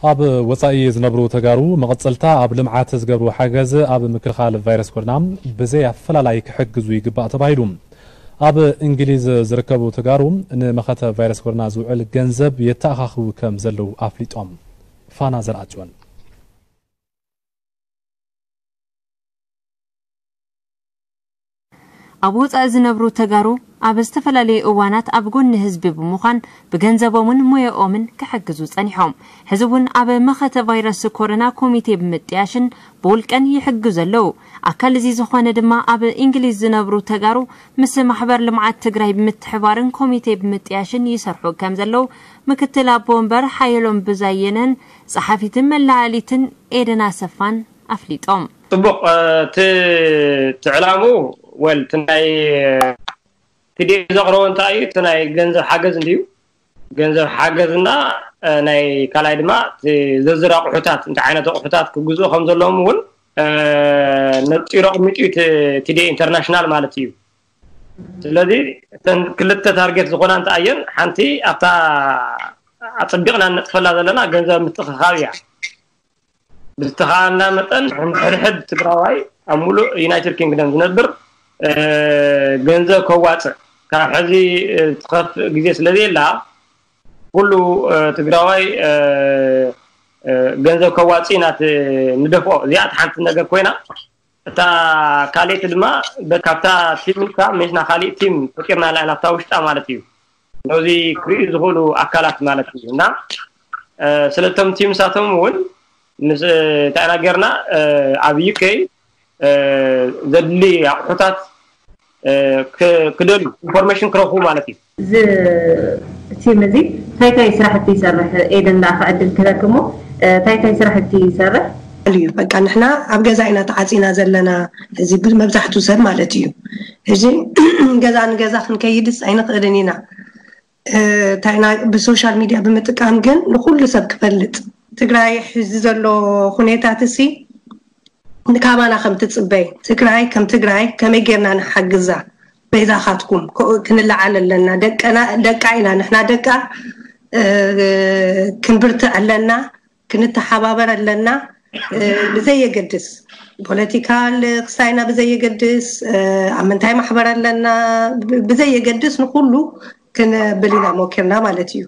ኣብ ወጻኢ ዝነብሩ ተጋሩ መቐጸልታ ኣብ ልምዓት ዝገብሩ ሓገዝ ኣብ ምክልኻል ቫይረስ ኮሮና ብዘይ ኣፈላላይ ክሕግዙ ይግባእ ተባሂሉ። ኣብ እንግሊዝ ዝርከቡ ተጋሩ ንመኸተ ቫይረስ ኮሮና ዝውዕል ገንዘብ የተኣኻኽቡ ከም ዘለዉ ኣፍሊጦም። ፋና ዘርኣጽዮን። ኣብ ወጻኢ ዝነብሩ ተጋሩ ኣብ ዝተፈላለዩ እዋናት ኣብ ጎኒ ህዝቢ ብምዃን ብገንዘቦምን ሞያኦምን ክሕግዙ ጸኒሖም። ሕዚ እውን ኣብ መኸተ ቫይረስ ኮሮና ኮሚቴ ብምጥያሽን ብውልቀን ይሕግዙ ኣለዉ። ኣካል እዚ ዝኾነ ድማ ኣብ እንግሊዝ ዝነብሩ ተጋሩ ምስ ማሕበር ልምዓት ትግራይ ብምትሕባርን ኮሚቴ ብምጥያሽን ይሰርሑ ከም ዘለዉ ምክትል ኣቦ ወንበር ሓየሎም ብዛየነን ጸሓፊትን መለዓሊትን ኤደን ኣሰፋን ኣፍሊጦም። ጽቡቕ፣ እ፣ እቲ፣ እቲ ዕላምኡ፣ ወል፣ እቲ ናይ፣ እ፣ ቲ ዲ ኤ ዘቕረቦ እንታይ እዩ? እቲ ናይ ገንዘብ ሓገዝ እንድዩ። ገንዘብ ሓገዝና፣ እ፣ ናይ ካልኣይ ድማ እቲ ዝርዝር ኣቑሑታት፣ እንታይ ዓይነት ኣቑሑታት ክግዝኡ ከም ዘለዎም እውን፣ እ፣ ነጺሩ ኣቕሚጡ እዩ እቲ ቲ ዲ ኤ ኢንተርናሽናል ማለት እዩ። ስለዚ እተን ክልተ ታርጌት ዝኾና እንታይ እየን? ሓንቲ ኣብታ ኣጸቢቕና ንነጥፈላ ዘለና ገንዘብ ምትእኽኻብ እያ። ብዝተኻእለና መጠን ሕድሕድ ትግራዋይ ኣብ ሙሉእ ዩናይትድ ኪንግደም ዝነብር፣ እ፣ ገንዘብ ከዋፅእ ካብ ሕዚ፣ እ፣ ትኸፍእ ግዜ ስለ ዘየላ ኩሉ፣ እ፣ ትግራዋይ፣ እ፣ እ፣ ገንዘብ ከዋፅእ ኢና ት-፣ ንደፍኦ። እዚኣ እቲ ሓንቲ ነገር ኮይና እታ ካልኣይቲ ድማ በ-፣ ካብታ ቲም ኢልካ ሜስና ካሊእ ቲም ፈጢርና ኣለና ናብታ ውሽጣ ማለት እዩ። ነዚ ክርእዩ ዝኽእሉ ኣካላት ማለት እዩ። እና፣ እ፣ ስለቶም ቲምሳቶም እውን ምስ፣ እ፣ እንታይ ኢና ጌርና፣ እ፣ ኣብ ዩ ኬ፣ እ፣ ዘድሊ ኣቑሑታት፣ እ፣ ክ-፣ ክደልዩ ኢንፎርሜሽን ክረኽቡ ማለት እዩ። እዚ ቲም እዚ እንታይ እንታይ ስራሕቲ ይሰርሕ? ኤደን ደኣ ክዕድል ክህበኪ እሞ፣ እ፣ እንታይ እንታይ ስራሕቲ ይሰርሕ? እዩ። በቃ ንሕና ኣብ ገዛ ኢና ተዓጺና ዘለና። እዚ ብ-፣ መብዛሕትኡ ሰብ ማለት እዩ። ሕጂ ገዛ ንገዛ ክንከይድስ ኣይንኽእልን ኢና። እ፣ እንታይ ኢና ብሶሻል ሚድያ ብምጥቃም ግን ንኹሉ ሰብ ክፈልጥ። ትግራይ ሕዚ ዘሎ ኩነታት እሲ ንካባና ከም ትጽበይ፣ ትግራይ ከም ትግራይ ከመይ ጌርና ንሓግዛ? በይዛኻትኩም ኮ-፣ ክንለዓል ኣለና። ደቀና፣ ደቃ ኢና ንሕና ደቃ፣ እ፣ ክንብርትዕ ኣለና፣ ክንተሓባበር ኣለና። እ፣ ብዘየገድስ ፖለቲካል ክስታይና ብዘየገድስ፣ እ፣ ኣብ ምንታይ ማሕበር ኣለና ብ-፣ ብዘየገድስ ንኹሉ ክንብል ኢና ሞኪርና ማለት እዩ።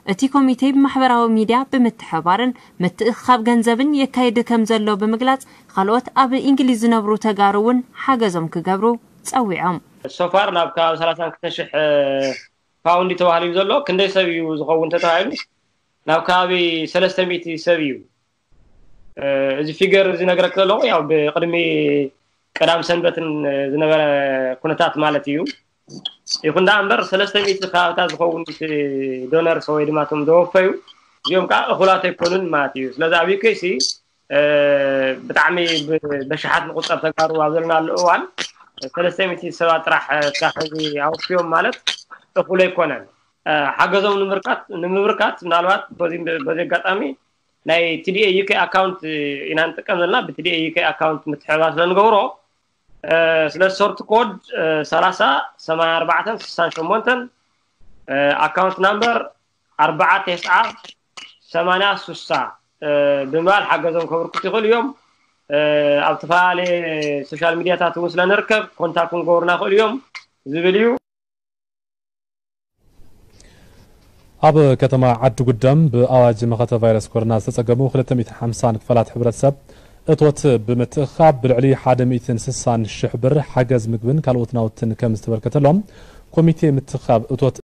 እቲ ኮሚቴ ብማሕበራዊ ሚድያ ብምትሕባርን ምትእኽኻብ ገንዘብን የካይድ ከም ዘሎ ብምግላጽ፣ ካልኦት ኣብ እንግሊዝ ዝነብሩ ተጋሩ እውን ሓገዞም ክገብሩ ጸዊዖም። ሶፋር ናብ ከባቢ ሰላሳን ክልተን ሽሕ ፓውንድ ተባሂሉ እዩ ዘሎ። ክንደይ ሰብ እዩ ዝኸውን ተተባሂሉ ናብ ከባቢ ሰለስተ ሚእቲ ሰብ እዩ። እ፣ እዚ ፊገር እዚ ነግረክ ዘለኹ ያው ብቅድሚ ቀዳም ሰንበትን ዝነበረ ኩነታት ማለት እዩ። ይኹን ደኣ እምበር ሰለስተ ሚእቲ ከባብታት ዝኸውን እቲ ዶነርስ ወይ ድማ እቶም ዘወፈዩ እዚኦም ከዓ እኹላት ኣይኮኑን ማለት እዩ። ስለዚ ኣብ ዩ ኬ ሲ፣ እ፣ ብጣዕሚ ብ-፣ በሽሓት ንቁጸር ተጋሩ ኣብ ዘለናሉ እዋን ሰለስተ ሚእቲ ሰባት ጥራሕ፣ እ፣ እስካብ ሕዚ ኣወፍዮም ማለት እኹል ኣይኮነን። እ፣ ሓገዞም ንምብርካት፣ ንምብርካት ምናልባት በዚ፣ በዚ ኣጋጣሚ ናይ ቲ ዲ ኤ ዩ ኬ ኣካውንት ኢና ንጥቀም ዘለና። ብ ቲ ዲ ኤ ዩ ኬ ኣካውንት ምትሕብባር ስለ ንገብሮ፣ እ፣ ስለ ሶርት ኮድ፣ እ፣ ሰላሳ ሰማንያ ኣርባዕተን ስሳን ሸሞንተን፣ እ፣ ኣካውንት ናምበር ኣርባዓ ተስዓ ሰማንያ ስሳ፣ እ፣ ብምባል ሓገዞም ከበርክቱ ይኽእሉ እዮም። እ፣ ኣብ ዝተፈላለየ ሶሻል ሚድያታት እውን ስለ ንርከብ ኮንታክት ክንገብሩና ይኽእሉ እዮም ዝብል እዩ። ኣብ ከተማ ዓዲ ጉደም ብኣዋጅ መኸተ ቫይረስ ኮሮና ዝተጸገሙ ክልተ ሚእትን ሓምሳን ክፋላት ሕብረተሰብ እቶት ብምትእኽኻብ ብልዕሊ ሓደ ሚእትን ስሳን ሽሕ ብር ሓገዝ ምግብን ካልኦት ናውትን ከም ዝተበርከተሎም ኮሚቴ ምትእኽኻብ እቶት